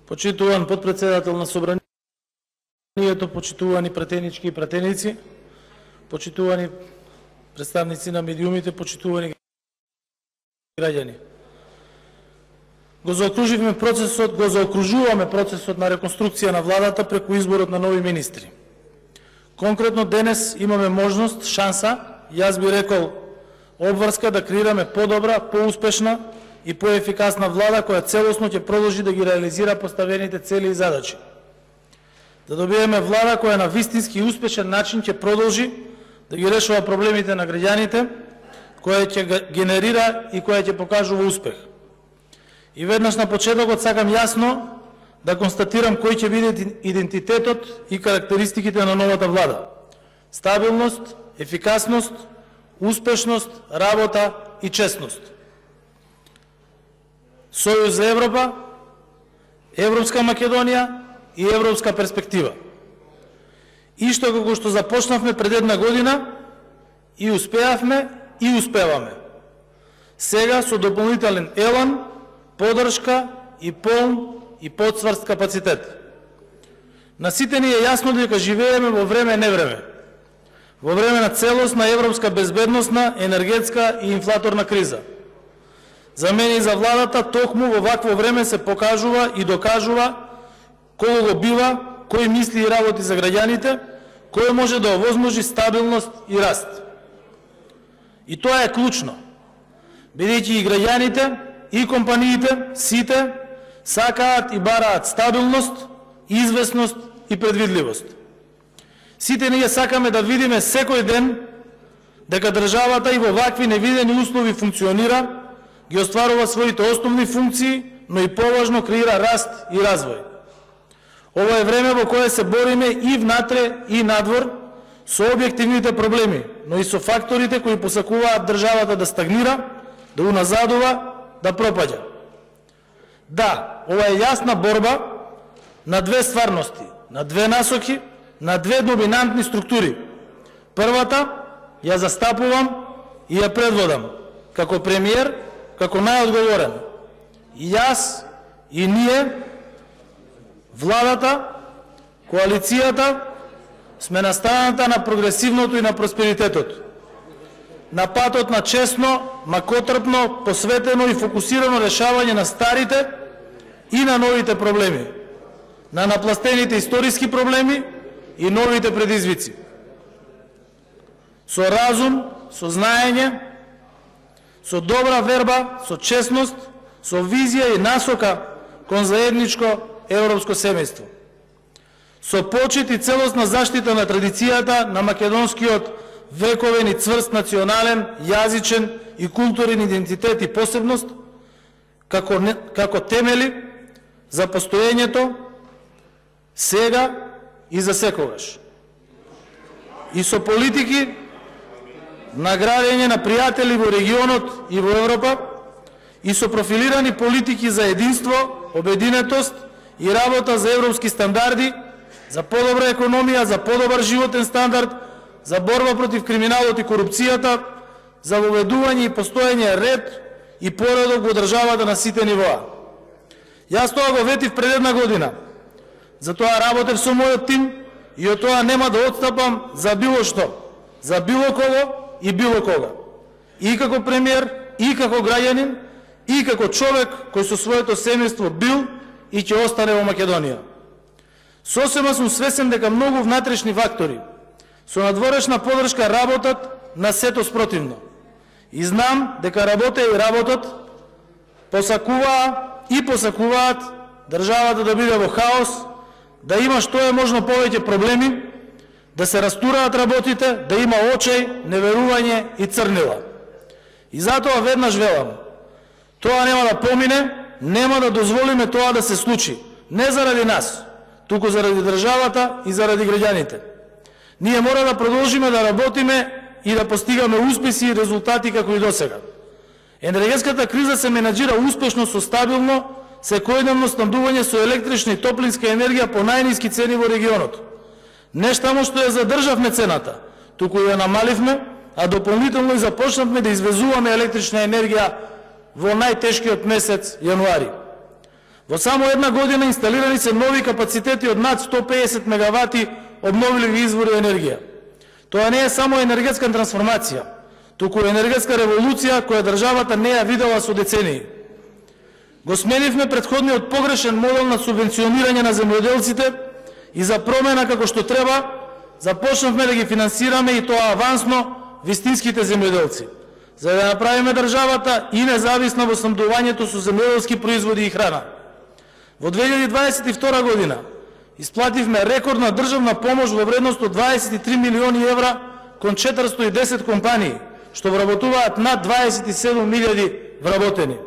Почитуван подпредседател на Собранието, почитувани пратенички и пратеници, почитувани представници на медиумите, почитувани граѓани. Го заокружуваме процесот на реконструкција на владата преку изборот на нови министри. Конкретно денес имаме можност, шанса, јас би рекол обврска да креираме подобра, поуспешна и поефикасна влада која целосно ќе продолжи да ги реализира поставените цели и задачи. Да добиеме влада која на вистински успешен начин ќе продолжи да ги решава проблемите на граѓаните, која ќе генерира и која ќе покажува успех. И веднаш на почетокот сакам јасно да констатирам кој ќе биде идентитетот и карактеристиките на новата влада. Стабилност, ефикасност, успешност, работа и честност. Сојуз за Европа, Европска Македонија и европска перспектива. Ишто како што започнавме пред една година и успеавме и успеваме. Сега со дополнителен елан, подршка и полн и подсврст капацитет. На сите ни е јасно дека живееме во време невреме. Во време на целосна европска безбедносна, енергетска и инфлаторна криза. За мене и за владата токму во вакво време се покажува и докажува кој го бива, кој мисли и работи за граѓаните, кој може да овозможи стабилност и раст. И тоа е клучно, бидејќи и граѓаните, и компаниите, сите, сакаат и бараат стабилност, известност и предвидливост. Сите ние сакаме да видиме секој ден дека државата и во вакви невидени услови функционира, ги остварува своите основни функции, но и поважно креира раст и развој. Ова е време во кое се бориме и внатре и надвор со објективните проблеми, но и со факторите кои посакуваат државата да стагнира, да уназадува, да пропаѓа. Да, ова е јасна борба на две стварности, на две насоки, на две доминантни структури. Првата ја застапувам и ја предводам како премиер, како најодговорен. И јас, и ние, владата, коалицијата, сме на страната на прогресивното и на просперитетот. На патот на честно, макотрпно, посветено и фокусирано решавање на старите и на новите проблеми, на напластените историски проблеми и новите предизвици. Со разум, со знаење, со добра верба, со честност, со визија и насока кон заедничко европско семејство. Со почит и целосна заштита на традицијата на македонскиот вековен и цврст национален, јазичен и културен идентитет и посебност, како темели за постоењето сега и за секогаш. И со политики на градење на пријатели во регионот и во Европа, и со профилирани политики за единство, обединетост и работа за европски стандарди, за подобра економија, за подобар животен стандард, за борба против криминалот и корупцијата, за воведување и постоење ред и поредок во државата на сите нивоа. Јас тоа го ветив пред една година. Затоа работев со мојот тим и од тоа нема да отстапам за било што, за било кого и било кога. И како премиер, и како граѓанин, и како човек кој со своето семејство бил и ќе остане во Македонија. Сосема сум свесен дека многу внатрешни фактори со надворешна подршка работат на сето спротивно. И знам дека работа и работат посакуваат државата да биде во хаос, да има што е можно повеќе проблеми, да се растураат работите, да има очај, неверување и црнила. И затоа веднаш велам, тоа нема да помине, нема да дозволиме тоа да се случи. Не заради нас, туку заради државата и заради граѓаните. Ние мора да продолжиме да работиме и да постигаме успеси и резултати како и досега. Енергетската криза се менаџира успешно со стабилно, секојдневно снабдување со електрична и топлинска енергија по најниски цени во регионот. Не само што ја задржавме цената, туку ја намаливме, а дополнително и започнавме да извезуваме електрична енергија во најтешкиот месец јануари. Во само една година инсталирани се нови капацитети од над 150 мегавати обновливи извори енергија. Тоа не е само енергетска трансформација, туку енергетска револуција која државата не ја видела со децении. Го сменивме претходниот погрешен модел на субвенционирање на земјоделците и за промена како што треба, започнавме да ги финансираме и тоа авансно вистинските земјоделци, за да направиме државата и независна во снабдувањето со земјоделски производи и храна. Во 2022 година исплативме рекордна државна помош во вредност од 23 милиони евра кон 410 компании, што вработуваат над 27.000 вработени.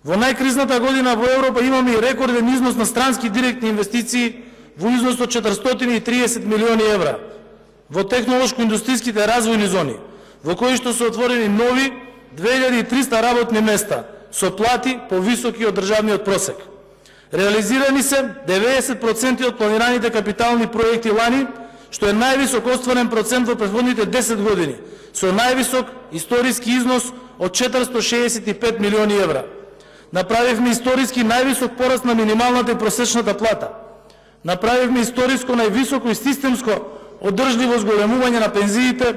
Во најкризната година во Европа имаме и рекорден износ на странски директни инвестиции во износ од 430 милиони евра во технолошко-индустријските развојни зони, во кои што се отворени нови 2300 работни места со плати повисоки од државниот просек. Реализирани се 90% од планираните капитални проекти лани, што е највисок остварен процент во претходните 10 години, со највисок историски износ од 465 милиони евра. Направивме историски највисок пораст на минималната и просечната плата. Направивме историско највисоко и системско одржливо зголемување на пензиите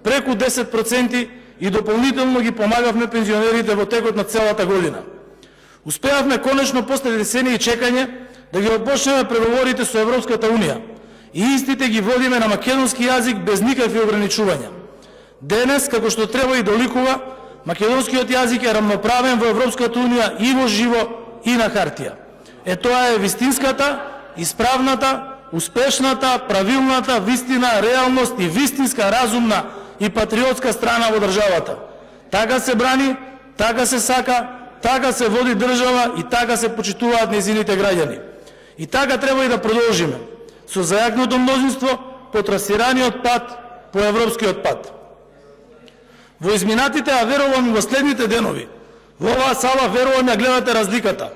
преку 10% и дополнително ги помагавме пензионерите во текот на целата година. Успеавме конечно после децении чекање да ги опочнеме преговорите со Европската Унија и истите ги водиме на македонски јазик без никакви ограничувања. Денес, како што треба и доликува, македонскиот јазик е рамноправен во Европската Унија и во живо и на хартија. Тоа е вистинската, исправната, успешната, правилната, вистина, реалност и вистинска, разумна и патриотска страна во државата. Така се брани, така се сака, така се води држава и така се почитуваат нејзините граѓани. И така треба и да продолжиме, со зајакното мнозинство по трасираниот пат, по европскиот пат. Во изминатите, а верувам и во следните денови, во оваа сала верувам ја гледате разликата.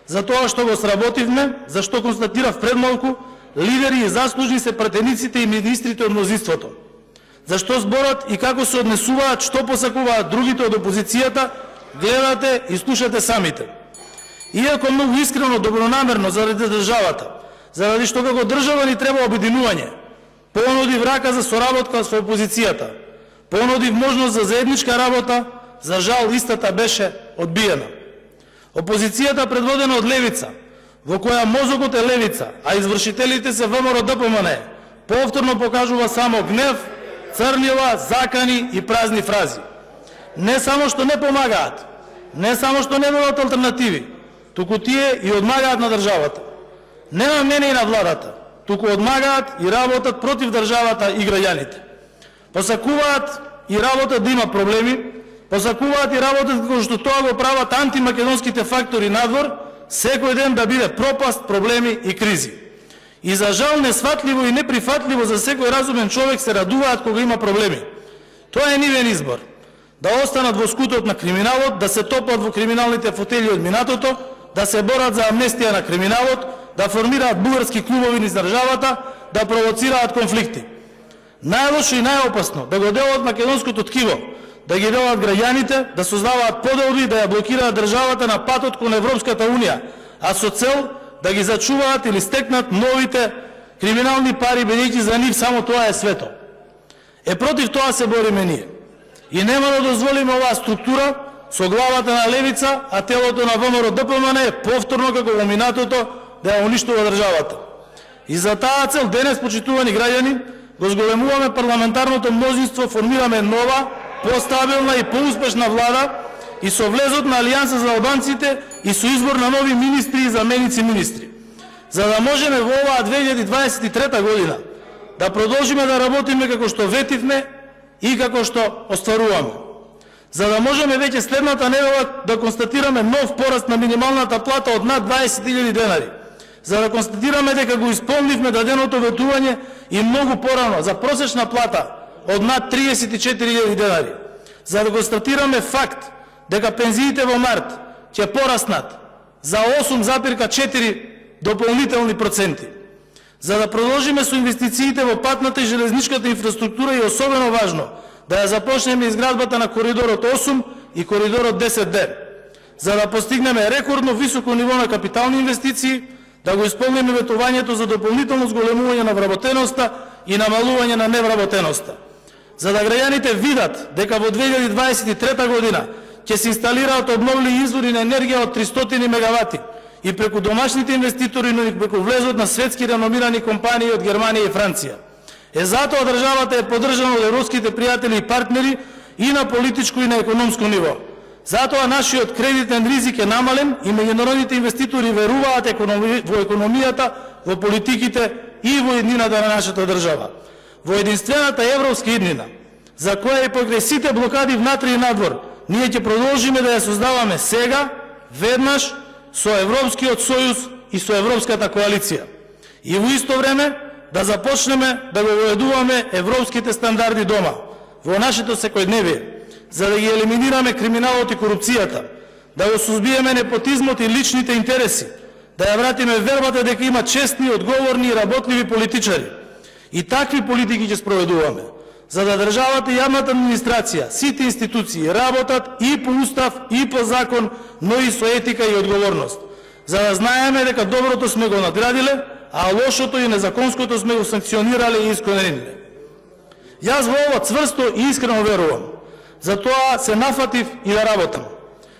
За тоа што го сработивме, за што констатирав пред малку, лидери и заслужни се пратениците и министрите од мнозинството. Зашто зборот и како се однесуваат, што посакуваат другите од опозицијата, гледате и слушате самите. Иако многу искрено, добронамерно заради државата, заради што како држава ни треба обединување, понудив рака за соработка со опозицијата, понудив можност за заедничка работа, за жал истата беше одбиена. Опозицијата предводена од левица, во која мозокот е левица, а извршителите се ВМРО-ДПМН, повторно покажува само гнев, црнила, закани и празни фрази. Не само што не помагаат, не само што не нудат алтернативи, туку тие и одмагаат на државата. Не на мене и на владата, туку одмагаат и работат против државата и граѓаните. Посакуваат и работат да има проблеми, посакуваат и работат како што тоа го прават антимакедонските фактори надвор, секој ден да биде пропаст, проблеми и кризи. И за жал несватливо и неприфатливо за секој разумен човек се радуваат кога има проблеми. Тоа е нивен избор. Да останат во скутот на криминалот, да се топат во криминалните фотели од минатото, да се борат за амнестија на криминалот, да формираат бугарски клубови низ државата, да провоцираат конфликти. Најлошо и најопасно да го делат македонското ткиво, да ги делат граѓаните, да создаваат поделби, да ја блокираат државата на патот кон Европската Унија, а со цел да ги зачуваат или стекнат новите криминални пари, бидејќи за нив само тоа е свето. Против тоа се бориме ние. И нема да дозволиме оваа структура со главата на левица, а телото на ВМРО-ДПМН повторно како во минатото да ја уништува државата. И за таа цел денес, почитувани граѓани, го зголемуваме парламентарното мнозинство, формираме нова, постабилна и поуспешна влада и со влезот на Алијанса за албанците и со избор на нови министри и заменици министри. За да можеме во оваа 2023 година да продолжиме да работиме како што ветивме и како што остваруваме. За да можеме веќе следната недела да констатираме нов пораст на минималната плата од над 20.000 денари. За да констатираме дека го исполнивме даденото ветување и многу порано за просечна плата од над 34.000 денари. За да констатираме факт дека пензиите во март ќе пораснат за 8,4 дополнителни проценти. За да продолжиме со инвестициите во патната и железничката инфраструктура и особено важно, да ја започнеме изградбата на коридорот 8 и коридорот 10D. за да постигнеме рекордно високо ниво на капитални инвестиции, да го исполниме ветувањето за дополнително зголемување на вработеноста и намалување на невработеноста. За да граѓаните видат дека во 2023 година ќе се инсталираат обновливи извори на енергија од 300 мегавати и преку домашните инвеститори, но и преку влезот на светски реномирани компании од Германија и Франција. Затоа државата е поддржана од европските пријатели и партнери и на политичко и на економско ниво. Затоа нашиот кредитен ризик е намален и меѓународните инвеститори веруваат во економијата, во политиките и во еднината на нашата држава. Во единствената европска иднина, за која и покрај сите блокади внатре и надвор, ние ќе продолжиме да ја создаваме сега, веднаш, со Европскиот сојуз и со Европската коалиција. И во исто време да започнеме да го воведуваме европските стандарди дома, во нашето секојдневие, за да ги елиминираме криминалот и корупцијата, да го сузбиеме непотизмот и личните интереси, да ја вратиме вербата дека има честни, одговорни и работливи политичари. И такви политики ќе спроведуваме, за да државата и јавната администрација, сите институции работат и по устав, и по закон, но и со етика и одговорност, за да знаеме дека доброто сме го надградиле, а лошото и незаконското сме го санкционирале и искорениле. Јас во ова цврсто и искрено верувам. Затоа се нафатив и да работам.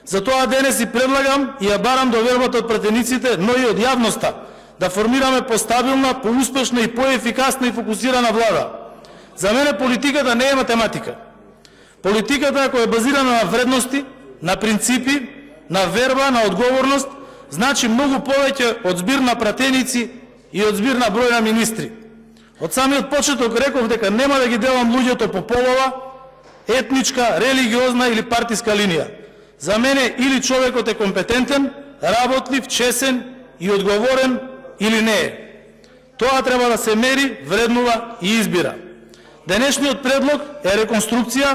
Затоа денес и предлагам и ја барам довербата од пратениците, но и од јавноста, да формираме постабилна, поуспешна и поефикасна и фокусирана влада. За мене политиката не е математика. Политиката, ако е базирана на вредности, на принципи, на верба, на одговорност, значи многу повеќе од збир на пратеници и од збир на број на министри. Од самиот почеток реков дека нема да ги делам луѓето по полова, етничка, религиозна или партиска линија. За мене или човекот е компетентен, работлив, чесен и одговорен или не е. Тоа треба да се мери, вреднува и избира. Денешниот предлог е реконструкција,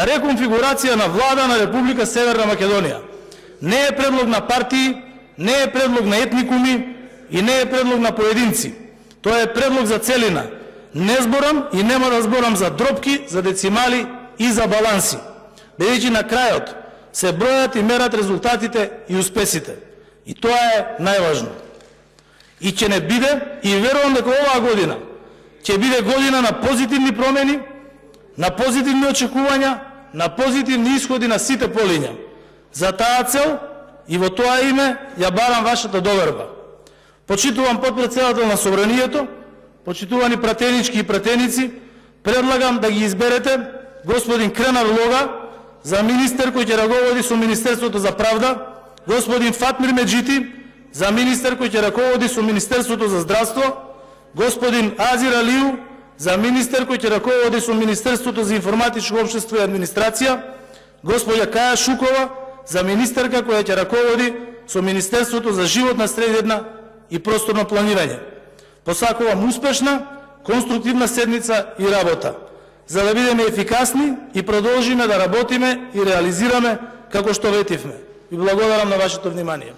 реконфигурација на влада на Република Северна Македонија. Не е предлог на партии, не е предлог на етникуми и не е предлог на поединци. Тоа е предлог за целина. Не зборам и нема да зборам за дропки, за децимали и за баланси. Бидејќи на крајот се бројат и мерат резултатите и успесите. И тоа е најважно. И ќе не биде, и верувам дека оваа година ќе биде година на позитивни промени, на позитивни очекувања, на позитивни исходи на сите полиња. За таа цел и во тоа име ја барам вашата доверба. Почитувам потпредседател на Собранието, почитувани пратенички и пратеници, предлагам да ги изберете господин Кренар Лога за министер кој ќе раководи со Министерството за правда, господин Фатмир Меджити за министер кој ќе раководи со Министерството за здравство, господин Азир Алиу за министер кој ќе раководи со Министерството за информатичко општество и администрација, господја Каја Шукова за министерка која ќе раководи со Министерството за животна средина и просторно планирање. Посакувам успешна, конструктивна седница и работа, за да бидеме ефикасни и продолжиме да работиме и реализираме како што ветивме. Ви благодарам на вашето внимание.